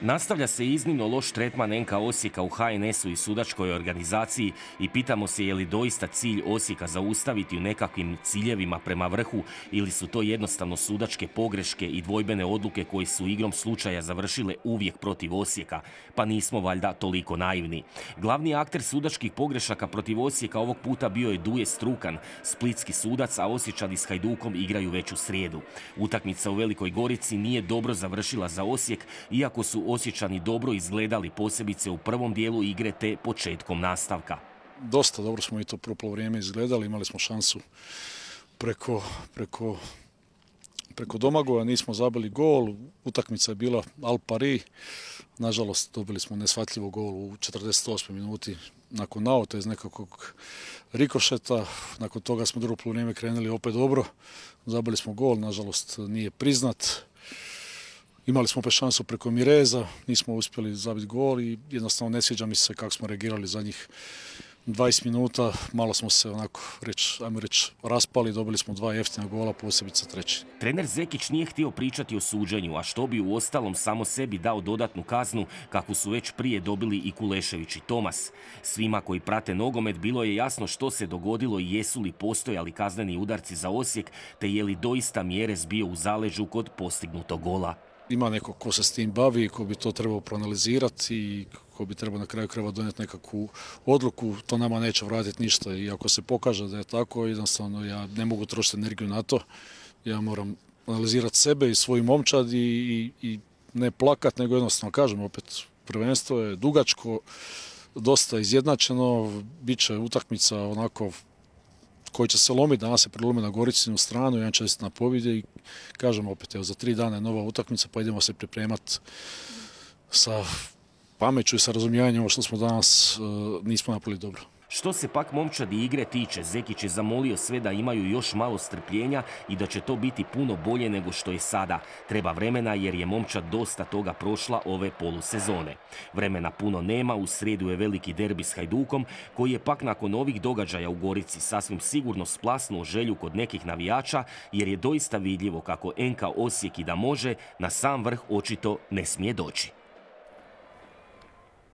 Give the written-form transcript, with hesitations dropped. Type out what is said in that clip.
Nastavlja se iznimno loš tretman NK Osijeka u HNS-u i sudačkoj organizaciji i pitamo se je li doista cilj Osijeka zaustaviti u nekakvim ciljevima prema vrhu ili su to jednostavno sudačke pogreške i dvojbene odluke koje su igrom slučaja završile uvijek protiv Osijeka, pa nismo valjda toliko naivni. Glavni akter sudačkih pogrešaka protiv Osijeka ovog puta bio je Duje Strukan, splitski sudac, a Osječani s Hajdukom igraju već u srijedu. Utakmica u Velikoj Gorici nije dobro završila za Osijek, iako su Osječani dobro izgledali, posebice u prvom dijelu igre te početkom nastavka. Dosta dobro smo i to prvo poluvrijeme izgledali, imali smo šansu preko Domagoja, nismo zabili gol, utakmica je bila al pari, nažalost dobili smo neshvatljivo gol u 48. minuti nakon nauta iz nekakvog rikošeta, nakon toga smo drugo poluvrijeme krenuli opet dobro, zabili smo gol, nažalost nije priznat. Imali smo opet šansu preko Mireza, nismo uspjeli zabiti gol i jednostavno ne sviđa mi se kako smo reagirali zadnjih 20 minuta. Malo smo se ajmo reći, raspali, dobili smo 2 jeftina gola, posebice treći. Trener Zekić nije htio pričati o suđenju, a što bi u ostalom samo sebi dao dodatnu kaznu, kakvu su već prije dobili i Kulešević i Tomas. Svima koji prate nogomet bilo je jasno što se dogodilo i jesu li postojali kazneni udarci za Osijek, te je li doista Mjerez bio u zaleđu kod postignutog gola. Ima neko ko se s tim bavi, ko bi to trebao proanalizirati i ko bi trebao na kraju krajeva donijeti nekakvu odluku, to nama neće vratiti ništa i ako se pokaže da je tako, jednostavno ja ne mogu trošiti energiju na to. Ja moram analizirati sebe i svoju momčad i ne plakat, nego jednostavno kažem opet, prvenstvo je dugačko, dosta izjednačeno, bit će utakmica onako koji će se lomiti, danas se prelomi na Goricinu stranu, jedan će na pobjede i kažem opet, evo za 3 dana je nova utakmica, pa idemo se pripremati sa pameću i sa razumijevanjem ovo što smo danas nismo napravili dobro. Što se pak momčadi igre tiče, Zekić je zamolio sve da imaju još malo strpljenja i da će to biti puno bolje nego što je sada. Treba vremena jer je momčad dosta toga prošla ove polusezone. Vremena puno nema, u srijedu je veliki derbi s Hajdukom, koji je pak nakon ovih događaja u Gorici sasvim sigurno splasnuo želju kod nekih navijača, jer je doista vidljivo kako NK Osijek i da može, na sam vrh očito ne smije doći.